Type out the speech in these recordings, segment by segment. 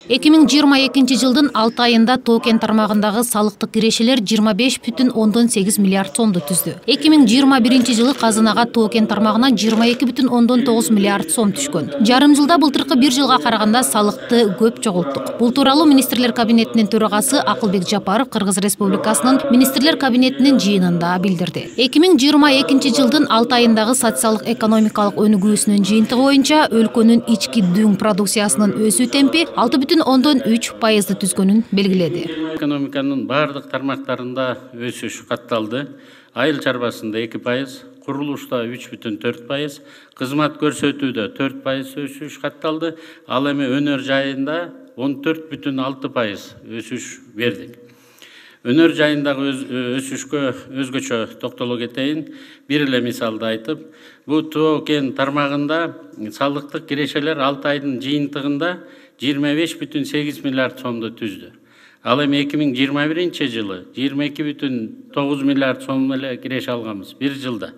2022 жылдын 6 айында Тоо-Кен тармагындагы салыктык кирешелер 25,8 миллиард сомду түздү. 2021 жылы казынага Тоо-Кен тармагынан 22,9 миллиард сом түшкөн. Жарым жылда былтыркы бир жылга караганда салыкты көп чогулттук. Бул тууралуу Министрлер кабинетинин төрагасы Акылбек Жапаров Кыргыз Республикасынын Министрлер кабинетинин жыйынында билдирди. 2022 жылдын 6 айындагы социалдык-экономикалык өнүгүүсүнүн жыйынтыгы боюнча өлкөнүн ички дүң продукциясынын өсүү темпи 6,3% түзгөнүн белгиледи. Экономиканын бардык тармактарында өсүш катталды. Айыл чарбасында 2%, курулушта 3,4%, кызмат көрсөтүүдө 4% өсүш катталды. Ал эми өнөр жайында 14,6% өсүш бердик. Өнөр жайындагы өсүшкө өзгөчө токтоло кетейин. Бир эле мисалды айтып, бул Тоо-Кен тармагында салыктык кирешелер 6 айдын жыйынтыгында 25,8 миллиард сомду түздү. Ал эми 2021 жылы 22,9 миллиард сом эле киреше алганбыз бир жылда.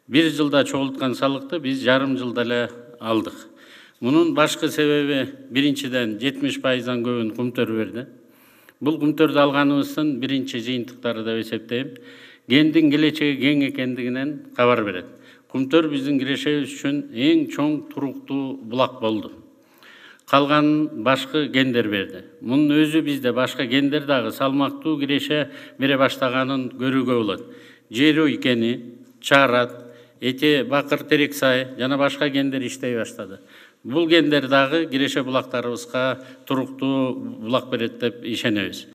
Бир жылда чогулткан салыкты биз жарым жылда эле алдык. Мунун башкы себеби биринчиден 70%дан көбүн Кумтөр берди. Бул Кумтөрдү алганыбыздын биринчи жыйынтыктары деп эсептейм. Кендин келечеги кең экендигинен кабар берет. Кумтөр биздин кирешебиз үчүн эң чоң туруктуу булак болду. Калганын башкы кендер берди. Мунун өзү бизде башка кендер дагы салмактуу киреше бере баштаганын көрүүгө болот. Жерүй кени, Чарат, Эте Бакыр Терексай жана башка кендер иштей баштады. Бул кендер дагы киреше булактарыбызга туруктуу булак берет деп ишенебиз.